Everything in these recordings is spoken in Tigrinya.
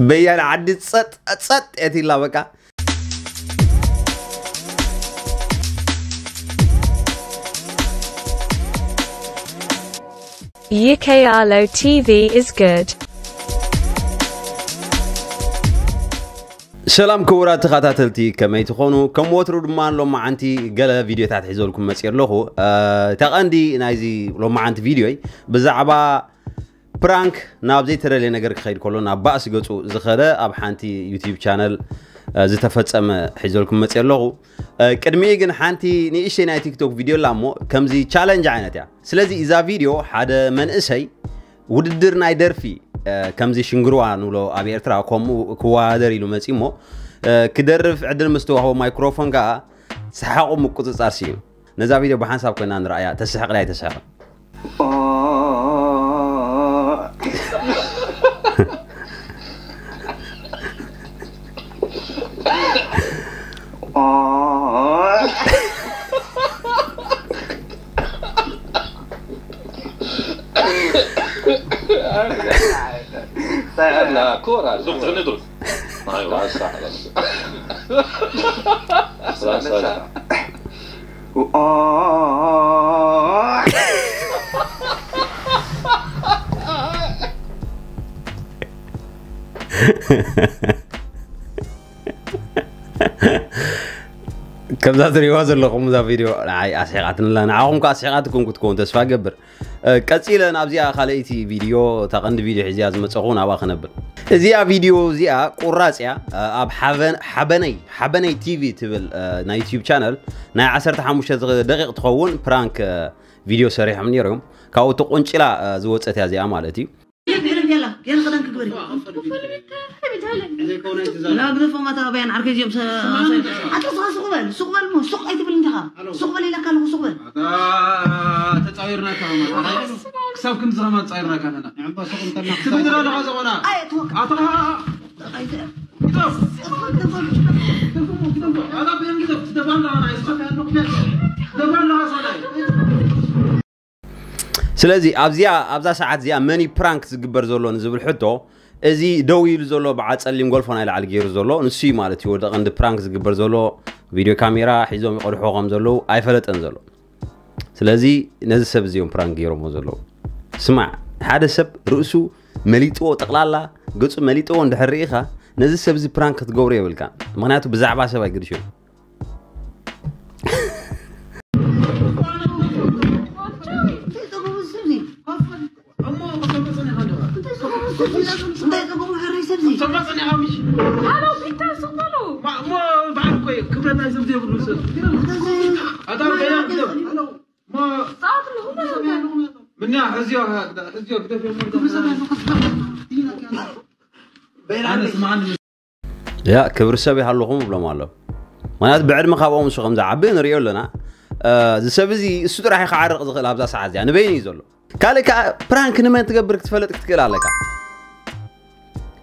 በያን ዓዲ ጸጥ ጸጥ የትላ በቃ። Yikayalo T V is good. ሰላም ክቡራት ተኸታተልቲ፣ ከመይ ትኾኑ? ከም ወትሩ ድማ ሎማዓንቲ ገለ ቪድዮታት ሒዘልኩም መፅእ ኣለኹ። እታ ቀንዲ ናይዚ ሎማዓንቲ ቪድዮይ ብዛዕባ ፕራንክ ናብ ዘይተደለየ ነገር ክኸይድ ከሎ ናብ ባእሲ ገፁ ዝኸደ ኣብ ሓንቲ ዩቲዩብ ቻነል ዝተፈፀመ ሒዘልኩም መፅእ ኣለኹ። ቅድሚኡ ግን ሓንቲ ንእሽተይ ናይ ቲክቶክ ቪድዮ ኣላ እሞ ከምዚ ቻለንጅ ዓይነት እያ። ስለዚ እዛ ቪድዮ ሓደ መንእሰይ ውድድር ናይ ደርፊ ከምዚ ሽንግርዋ ንብሎ ኣብ ኤርትራ ከምኡ ክወዳደር ኢሉ መፂ እሞ ክደርፍ ዕድል ምስ ተዋህቦ ማይክሮፎን ከዓ ሰሓቑ ምቁፅፃር ስኢኑ። ነዛ ቪድዮ ብሓንሳብ ኮይና ንረኣያ። ተስሕቕ ዳይ ተስሕቕ? لا كورة زوج تغني دروك ايوه هسه خلاص خلاص هسه ከምዛ ትሪእዋ ዘለኹም እዛ ቪድዮ ንዓይ ኣስሒቓትንላ፣ ንዓኹም ከ ኣስሒቓትኩም ክትከውን ተስፋ ገብር። ቀፂለ ናብዚኣ ካልኣይቲ ቪድዮ፣ እታ ቀንዲ ቪድዮ ሒዝያ ዝመፀኹ ናብኣ ክነብል። እዚኣ ቪድዮ እዚኣ ቁራፅ እያ። ኣብ ሓበነይ ሓበነይ ቲቪ ትብል ናይ ዩቲዩብ ቻነል ናይ ዓሰርተ ሓሙሽተ ደቂቕ ትኸውን ፕራንክ ቪድዮ ሰሪሖም ነይሮም። ካብኡ ተቆንጭላ ዝወፀት እያ እዚኣ ማለት እዩ። يلا يلا خلينا نكبر لا بضيف ما تابع عن عركه يوم حتى صغار سوق بل سوق بل مو سوق اي تبل انتها سوق بل لك له سوق بل ተጻዊርናካ ክሳብ ክንዚ ከማ ተጻዊርናካ ኣለና ክትብድር ኣለኻ ዝኾና ኣታ ስለዚ ኣብዚኣ ኣብዛ ሰዓት እዚኣ መን እዩ ፕራንክ ዝግበር ዘሎ ንዝብል ሕቶ፣ እዚ ደው ኢሉ ዘሎ በዓል ጸሊም ጎልፎ ናይ ላዕሊ ገይሩ ዘሎ ንሱ እዩ ማለት እዩ። ወዲ ቀንዲ ፕራንክ ዝግበር ዘሎ ቪድዮ ካሜራ ሒዞም ይቐድሕዎ ከም ዘለዉ ኣይፈለጠን ዘሎ። ስለዚ ነዚ ሰብ እዚ እዮም ፕራንክ ገይሮምዎ ዘለዉ። ስማዕ፣ ሓደ ሰብ ርእሱ መሊጥዎ፣ ጠቕላላ ገጹ መሊጥዎ እንድሕር ርኢኻ፣ ነዚ ሰብ እዚ ፕራንክ ክትገብሮ የብልካን። ምኽንያቱ ብዛዕባ ሰብ ኣይግድሾን። ምና ሕዝዮ ሕዝዮ ግደፍ ያ ክብሪ ሰብ ይሃልኹም እብሎም ኣሎ። ምክንያቱ ብዕድመ ካብኦም እሱ ከም ዝዓቢ ንሪኦ ኣለና። እዚ ሰብ እዚ እሱ ጥራሕ እዩ ክዓርቕ ዝኽእል ኣብዛ ሰዓት እዚኣ ንበይኑ እዩ ዘሎ። ካልእ ከዓ ፕራንክ ንመን ትገብር ክትፈልጥ ክትክእል ኣለካ።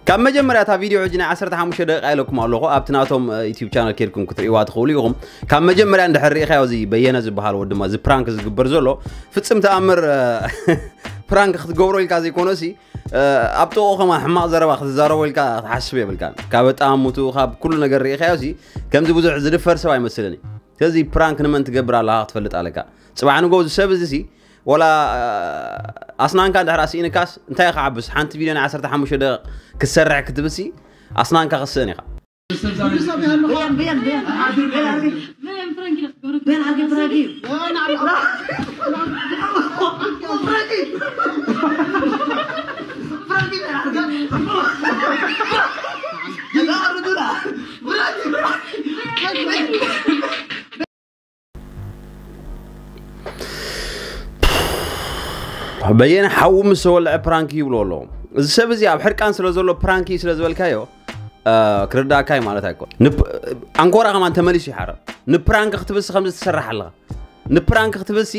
ካብ መጀመርያ እታ ቪድዮ ሕጂ ናይ ዓሰርተ ሓሙሽተ ደቂቃ ኢለኩም ኣለኹ። ኣብቲ ናቶም ዩቲዩብ ቻነል ኬድኩም ክትርእይዋ ትኽእሉ ኢኹም። ካብ መጀመርያ እንድሕር ርኢኻዮ እዚ በየነ ዝበሃል ወዲ ድማ እዚ ፕራንክ ዝግበር ዘሎ ፍጽም ተኣምር ፕራንክ ክትገብሮ ኢልካ ዘይኮነሲ ኣብ ጥቕኡ ከማን ሕማቕ ዘረባ ክትዛረቦ ኢልካ ክትሓስብ የብልካን። ካብ ኣጠማምትኡ ካብ ኩሉ ነገር ርኢኻዮ ሲ ከምዚ ብዙሕ ዝድፈር ሰብ ኣይመስልን እዩ። ስለዚ ፕራንክ ንመን ትገብር ኣለኻ ክትፈልጥ ኣለካ። ጽባሕ ንጎ እዚ ሰብ እዚ ሲ ወላ ኣስናንካ እንድሕር ስኢንካስ እንታይ ክዓብስ ሓንቲ ቪድዮ ናይ ዓሰርተ ሓሙሽተ ደቂቕ ክትሰርሕ ክትብል ሲ ኣስናንካ ክስእን ኢኻ። በየነ ሓዉ ምስ ተወልዐ ፕራንክ ይብሎ ኣለዉ። እዚ ሰብ እዚ ኣብ ሕርቃን ስለ ዘሎ ፕራንክ እዩ ስለ ዝበልካዮ ክርዳእካ እዩ ማለት ኣይኮን። ኣንኮራ ከማን ተመሊሱ ይሓረ። ንፕራንክ ክትብልሲ ከምዚ ትሰርሕ ኣለኻ። ንፕራንክ ክትብልሲ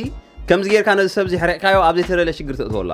ከምዚ ጌርካ ነዚ ሰብ እዚ ሕሪቕካዮ ኣብ ዘይተደለ ሽግር ተእትወላ።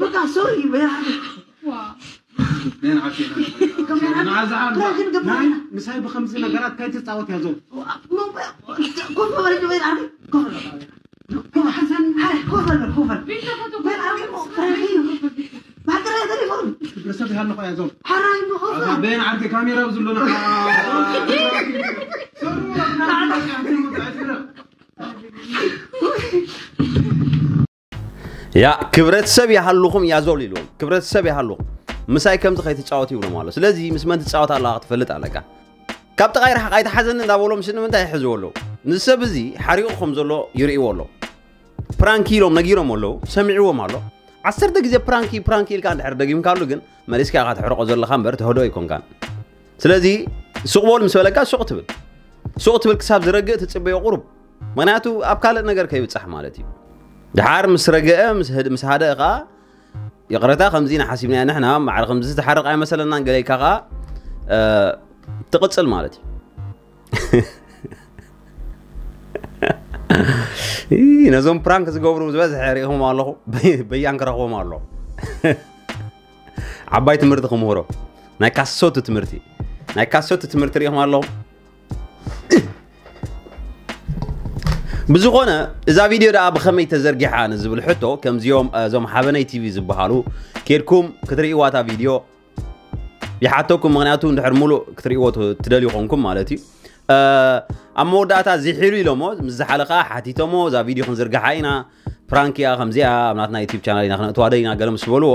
በቃ ሶሪ። ምሳይ ብከምዚ ነገራት ከይትፃወት ያዞ። ሰብ ያለቆ ያዞ። በን ዓርኪ ካሜራ ብዝሎ ያ ክብረት ሰብ ይሃልኹም ያዞል ኢልዎም። ክብረት ሰብ ይሃልኹም፣ ምሳይ ከምዚ ከይትፃወት ይብሎም ኣሎ። ስለዚ ምስ መን ትፃወት ኣለኻ ክትፈልጥ ኣለካ። ካብ ጥቓይ ርሓቕ ኣይትሓዘኒ እንዳበሎም ሽን ንምንታይ ይሕዝዎ ኣለዉ? ንሰብ እዚ ሓሪቑ ከም ዘሎ ይርእይዎ ኣለዉ። ፕራንክ ኢሎም ነጊሮም ኣለዉ፣ ሰሚዕዎም ኣሎ። ዓሰርተ ግዜ ፕራንክ ፕራንክ ኢልካ እንድሕር ደጊምካሉ ግን መሊስካ ኢኻ ትሕርቆ ዘለኻ እምበር ተህዶ ኣይኮንካን። ስለዚ ሱቕ በል ምስ በለካ ሱቕ ትብል፣ ሱቕ ትብል ክሳብ ዝረግእ ትፅበዮ ቁሩብ። ምክንያቱ ኣብ ካልእ ነገር ከይብፃሕ ማለት እዩ። ድሓር ምስ ረገአ ምስ ሃደአ ከዓ ይቕረታ ከምዚ ኢና ሓሲብናዮ ንሕና፣ ማዕረ ከምዚ ዝተሓርቕ ኣይመሰለናን ገለ ኢልካ ከዓ ትቕፅል ማለት እዩ። ነዞም ፕራንክ ዝገብሩ ዝበዝሐ ሪኢኹም ኣለኹ። በያን ክረኽቦም ኣለኹ። ዓባይ ትምህርቲ ክምህሮ፣ ናይ ካሶቱ ትምህርቲ፣ ናይ ካሶቱ ትምህርቲ ሪኢኹም ኣለኹ። ብዝኾነ እዛ ቪድዮ ደኣ ብኸመይ ተዘርጊሓ ንዝብል ሕቶ፣ ከምዚኦም እዞም ሓበነይ ቲቪ ዝበሃሉ ኬድኩም ክትርእይዋ እታ ቪድዮ ይሓተኩም። ምክንያቱ እንድሕር ሙሉእ ክትርእይዎ ትደልዩ ኮንኩም ማለት እዩ። ኣብ መወዳእታ ዝሒሉ ኢሎሞ ምስ ዝሓለኻ ሓቲቶሞ እዛ ቪድዮ ክንዝርግሓ ኢና፣ ፕራንክ እያ፣ ከምዚኣ ኣብ ናትና ዩቲብ ቻናል ኢና ክነእትዋ ደሊና ገለ ምስ በልዎ፣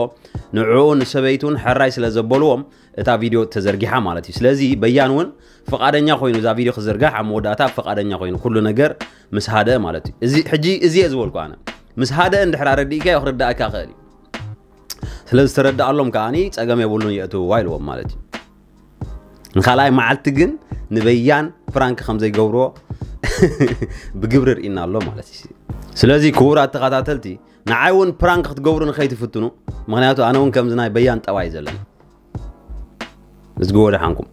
ንዕኡ ንሰበይቱን ሕራይ ስለ ዘበልዎም እታ ቪድዮ ተዘርጊሓ ማለት እዩ። ስለዚ በያን እውን ፍቓደኛ ኮይኑ እዛ ቪድዮ ክዝርጋሕ ኣብ መወዳእታ ፍቓደኛ ኮይኑ ኩሉ ነገር ምስ ሃደ ማለት እዩ። እዚ ሕጂ እዚ እየ ዝበልኩ ኣነ። ምስ ሃደ እንድሕር ኣረዲእካዮ ክርዳእካ ይኽእል እዩ። ስለ ዝተረዳኣሎም ከዓኒ ጸገም የብሉን የእትውዋ ኢልዎም ማለት እዩ። ንኻልኣይ መዓልቲ ግን ንበያን ፕራንክ ከም ዘይገብርዎ ብግብሪ ርኢና ኣሎ ማለት እዩ። ስለዚ ክቡራት ተኸታተልቲ ንዓይ እውን ፕራንክ ክትገብሩ ንኸይትፍትኑ፣ ምክንያቱ ኣነ እውን ከምዚ ናይ በያን ጠባይ ዘለኒ። እዝግዎ ደሓንኩም።